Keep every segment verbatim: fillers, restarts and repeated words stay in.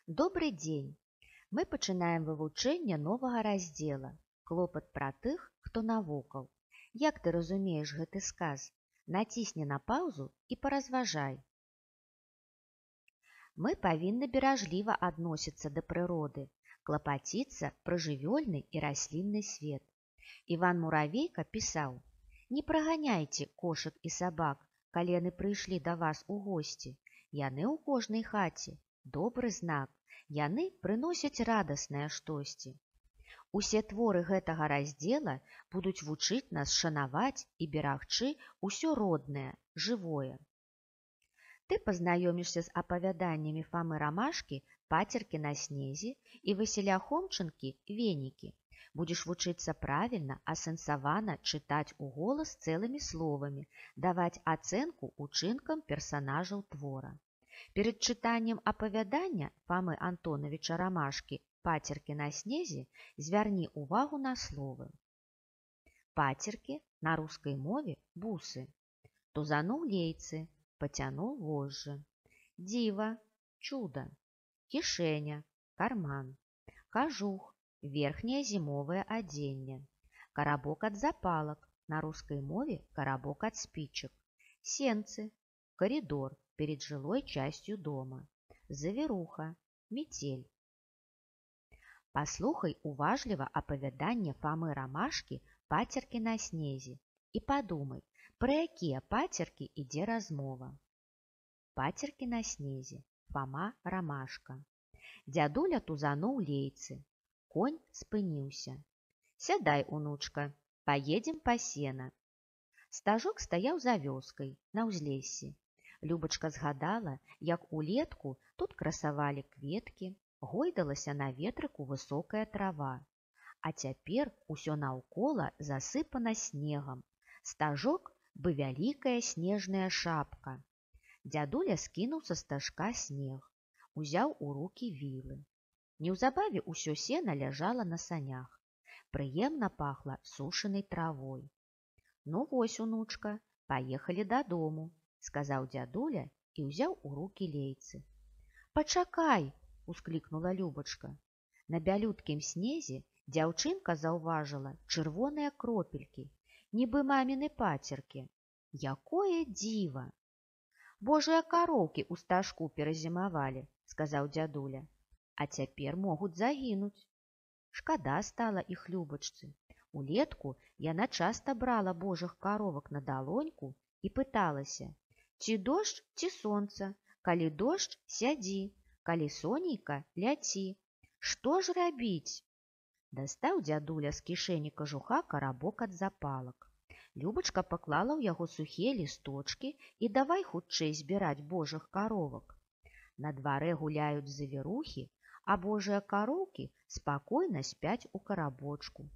Добрый дзень! Мы пачынаем вывучэнне новага раздзела «Клопат пра тых, хто навокал». Як ты разумееш гэты сказ? Націсні на паўзу і паразважай. Мы павінны беражліва адносіцца да прыроды, клапаціцца пра жывёльны і раслінны свет. Іван Муравейка пісаў: «Не праганяйце кошак і сабак, калі яны прыйшлі да вас у госці. Яны ў кожнай хаце. Добры знак. Яны прыносяць радаснае штосьці». Усе творы гэтага раздзела будуць вучыць нас шанаваць і берагчы ўсё роднае, жывое. Ты пазнаёмішся з апавяданнямі Фамы Рамашкі «Пацеркі на снезе» і Васіля Хомчынкі «Венікі». Будзеш вучыцца правільна, асэнсавана чытаць уголас цэлымі словамі, даваць ацэнку учынкам персанажаў твора. Перад чытаннем апавядання Фамы Антонавіча Рамашкі «Пацеркі на снезе» звярні ўвагу на словы. Пацеркі на рускай мове бусы. Тузануў лейцы, пацянуў вожжы. Дзіва, чуда. Кішэня, карман. Кажух, верхняе зімовае адзенне. Карабок ад запалак, на рускай мове карабок ад спічак. Сенцы, коридор перед жылой частью дома. Завіруха, метель. Паслухай уважліва апавяданне Фамы Рамашкі «Пацеркі на снезе» і падумай, пра якія пацеркі ідзе размова. Пацеркі на снезе. Фама Рамашка. Дзядуля тузануў лейцы. Конь спыніўся. Сядай, унучка, паедзем па сена. Стажок стаяў за вёскай, на ўзлессі. Любачка згадала, як улетку тут красавалі кветкі, гойдалася на ветрыку высокая трава. А цяпер усё наўкола засыпана снегам. Стажок бы вялікая снежная шапка. Дзядуля скінуў са стажка снег, узяў у рукі вілы. Неўзабаве ўсё сена ляжала на санях. Прыемна пахла сушанай травой. «Ну вось, унучка, паехалі дадому», – сказаў дзядуля і ўзяў у рукі лейцы. «Пачакай!» – усклікнула Любачка. На бялюткім снезе дзяўчынка заўважыла чырвоныя кропелькі, нібы маміны пацеркі. Якое дзіва! «Божыя кароўкі ў стажку перазімавалі», – сказаў дзядуля. «А цяпер могуць загінуць». Шкада стала іх Любачцы. Улетку яна часта брала божых каровак на далоньку і пыталася: «Ці дождж, ці сонца? Калі дождж, сядзі, калі сонейка, ляці. Што ж рабіць?» Дастаў дзядуля з кішэні кажуха карабок ад запалак. Любачка паклала ў яго сухія лісточкі і давай хутчэй збіраць божых каровак. На дварэ гуляюць завірухі, а божыя кароўкі спакойна спяць у карабочку.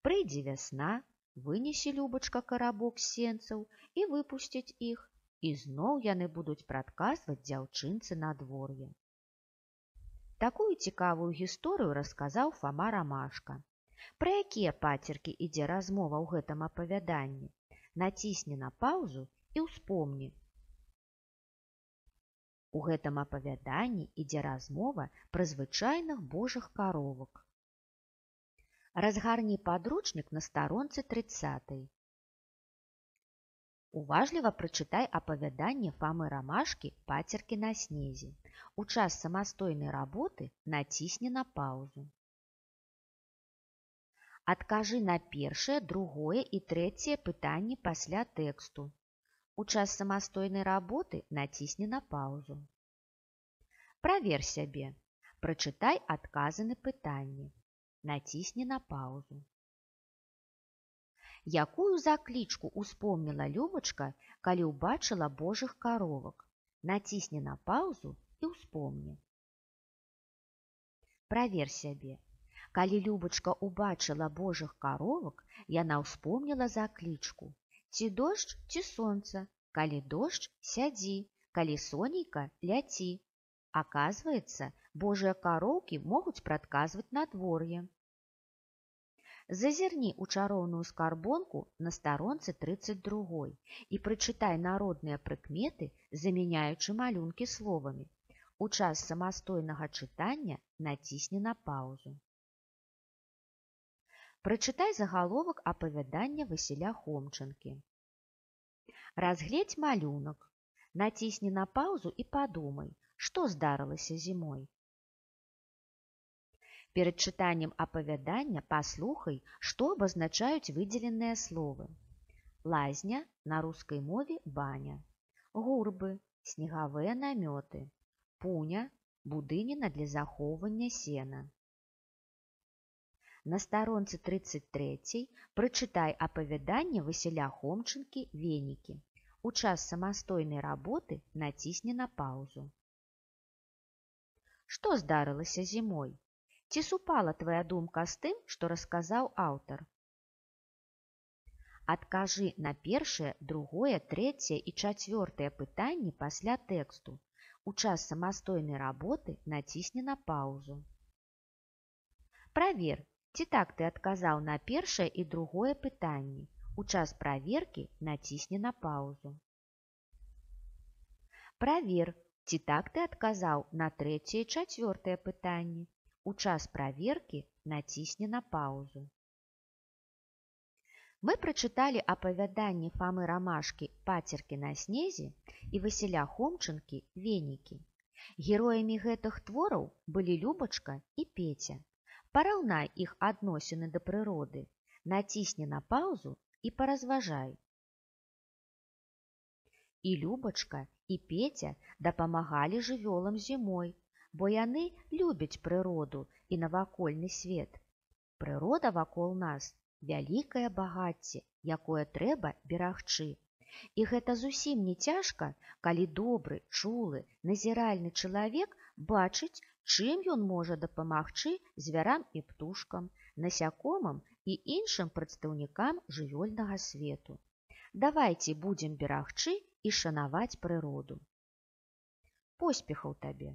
Прыйдзе вясна, вынесе Любачка карабок з сенцаў і выпусціць іх, і зноў яны будуць прадказваць дзяўчынцы надвор'е. Такую цікавую гісторыю расказаў Фама Рамашка. Пра якія пацеркі ідзе размова ў гэтым апавяданні? Націсні на паўзу і ўспомні. У гэтым апавяданні ідзе размова пра звычайных божых каровак. Разгарні падручнік на старонцы трыццатай. Уважліва прачытай апавяданне Фамы Рамашкі «Пацеркі на снезе». У час самастойнай работы націсні на паўзу. Адкажы на першае, другое і трэцяе пытанні пасля тэксту. У час самастойнай работы націсні на паўзу. Правер сябе. Прачытай адказы на пытанні. Націсні на паўзу. Якую заклічку успомніла Любачка, калі ўбачыла божых каровак? Націсні на паўзу і ўспомні. Правер сябе. Калі Любачка ўбачыла божых каровак, яна ўспомніла заклічку. Ці дождж, ці сонца? Калі дождж, сядзі, калі сонейка, ляці. Аказваецца, божыя кароўкі могуць прадказваць надвор'е. Зазірні ў чароўную скарбонку на старонцы трыццаць другой і прачытай народныя прыкметы, замяняючы малюнкі словамі. У час самастойнага чытання націсні на паўзу. Прачытай загаловак апавядання Васіля Хомчынкі. Разгледзь малюнак. Націсні на паўзу і падумай, што здарылася зімой. Перад чытаннем апавядання паслухай, што абазначаюць выдзеленыя словы. Лазня, на рускай мове баня. Гурбы, снегавыя намёты. Пуня, будыніна для захоўвання сена. На старонцы трыццаць трэцяй прачытай апавяданне Васіля Хомчынкі «Венікі». У час самастойнай работы націсні на паўзу. Што здарылася зімой? Ці супала твая думка з тым, што расказаў аўтар? Адкажы на першае, другое, трэцяе і чацвёртае пытанні пасля тэксту. У час самастойнай работы націсні на паўзу. Правер, ці так ты адказаў на першае і другое пытанні. У час праверкі націсні на паўзу. Правер, ці так ты адказаў на трэцяе і чацвёртае пытанні. У час праверкі націсні на паўзу. Мы прачыталі апавяданні Фамы Рамашкі «Пацеркі на снезе» і Васіля Хомчынкі «Венікі». Героямі гэтых твораў былі Любачка і Пеця. Параўнай іх адносіны да прыроды, націсні на паўзу і паразважай. І Любачка, і Пеця дапамагалі жывёлам зімой, бо яны любяць прыроду і навакольны свет. Прырода вакол нас вялікае багацце, якое трэба берагчы. І гэта зусім не цяжка, калі добры, чулы, назіральны чалавек бачыць, чым ён можа дапамагчы звярам і птушкам, насякомым і іншым прадстаўнікам жывёльнага свету. Давайце будзем берагчы і шанаваць прыроду. Поспехаў табе!